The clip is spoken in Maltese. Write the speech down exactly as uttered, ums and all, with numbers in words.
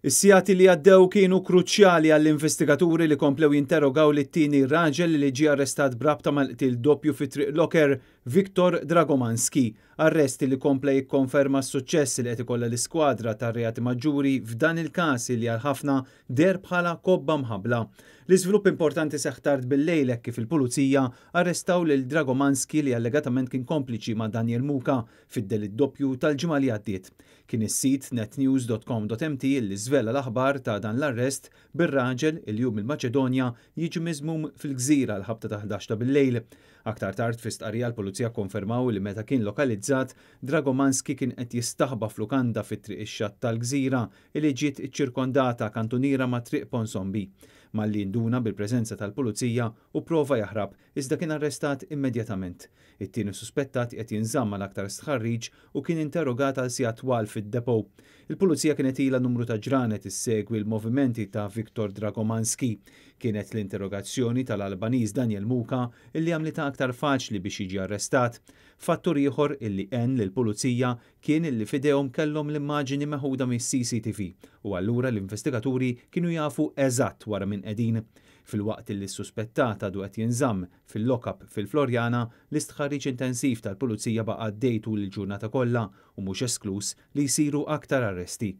Is-sigħat li għaddew kienu kruċjali għall-investigaturi li komplew jinterrogaw lit-tieni raġel li ġie arrestat b'rabta mal-qtil doppju fi Triq Locker, Viktor Dragomanski. Arrest li kompla jikkonferma s-suċċess li qed ikollha l-iskwadra tar-reati maġġuri f'dan il-każ li għal ħafna deher bħala kobba mħabbla. L-iżvilupp importanti seħħ tard bil-lejl kif il-pulizija arrestaw lil Dragomanski li allegatament kien kompliċi ma' Daniel Muka fid-delitt doppju tal-ġimgħa li għaddiet. Kien is-sit netnews punt com punt M T li żvela l-aħbar ta' dan l-arrest, bir-raġel li hu mill-Maċedonja jiġi miżmum fil-Gżira l-ħabta ta' ħdax ta' bil-lejl. Aktar tard, fi stqarrija, l-pulizija konfermaw li meta kien lokalizzat, Dragomanski kien qed jistaħba f'lukanda fit-Triq ix-Xatt tal-Gżira li ġiet iċċirkondata kantuniera ma' Triq Ponsombi. Malli induna bil-preżenza tal-pulizija u prova jaħrab, iżda kien arrestat immedjatament. It-tieni suspettat qed jinżamm għal aktar stħarriġ u kien interrogat għal sigħat twal fid-depot. Il-pulizija kienet ilha numru ta' ġranet issegwi l-movimenti ta' Viktor Dragomanski. Kienet l-interrogazzjoni tal-Albaniż Daniel Muka illi għamlitha aktar faċli biex jiġi arrestat. Fattur ieħor illi għen lill-pulizija kien illi f'idejhom kellhom l-immaġini meħuda mis-C C T V u allura l-investigaturi kienu jafu eżatt wara min qegħdin. Filwaqt li s-suspettat għadu qed jinżamm fil-lockup fil-Florjana, l-istħarriġ intensiv tal-pulizija baqa' għaddej tul il-ġurnata kollha u mhux esklus li jsiru aktar arresti.